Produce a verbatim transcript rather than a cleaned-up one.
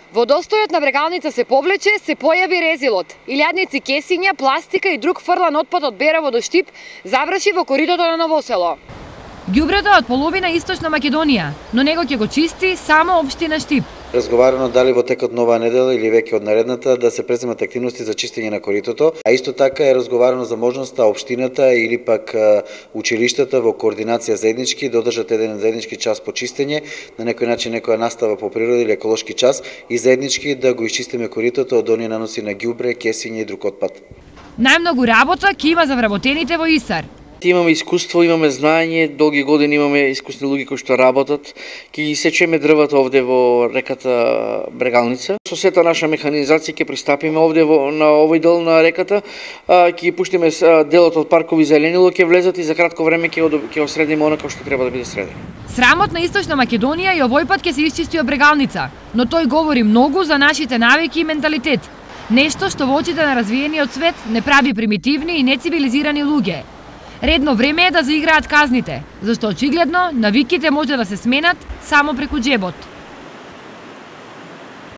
Водостојот на Брегалница се повлече, се појави резилот. Илјадници кесиња, пластика и друг фрлан отпад од Берово до Штип заврши во коритото на Новосело. Ѓубрето од половина Источна Македонија, но него ќе го чисти само општина Штип. Разговарано дали во текот на оваа недела или веќе од наредната да се преземат активности за чистење на коритото, а исто така е разговарано за можноста општината или пак училиштата во координација заеднички да одржат еден заеднички час по чистење, на некој начин некоја настава по природа или еколошки час и заеднички да го исчистиме коритото од оние наноси на ѓубре, кесиње и друг отпад. Најмногу работа ќе има за вработените во ИСАР. Имаме искуство, имаме знаење, долги години имаме искусни луѓе кои што работат. Ќе ги сечеме дрвата овде во реката Брегалница. Со сета наша механизација ќе пристапиме овде во, на овој дел на реката, ќе ги пуштиме делот од паркови зеленило, ќе влезат и за кратко време ќе ќе осредиме она што треба да биде средено. Срамот на Источна Македонија и овој пат ќе се исчисти од Брегалница, но тој говори многу за нашите навики и менталитет. Нешто што во очите на развиениот свет не прави примитивни и нецивилизирани луѓе. Редно време е да заиграат казните, зашто очигледно навиките може да се сменат само преку џебот.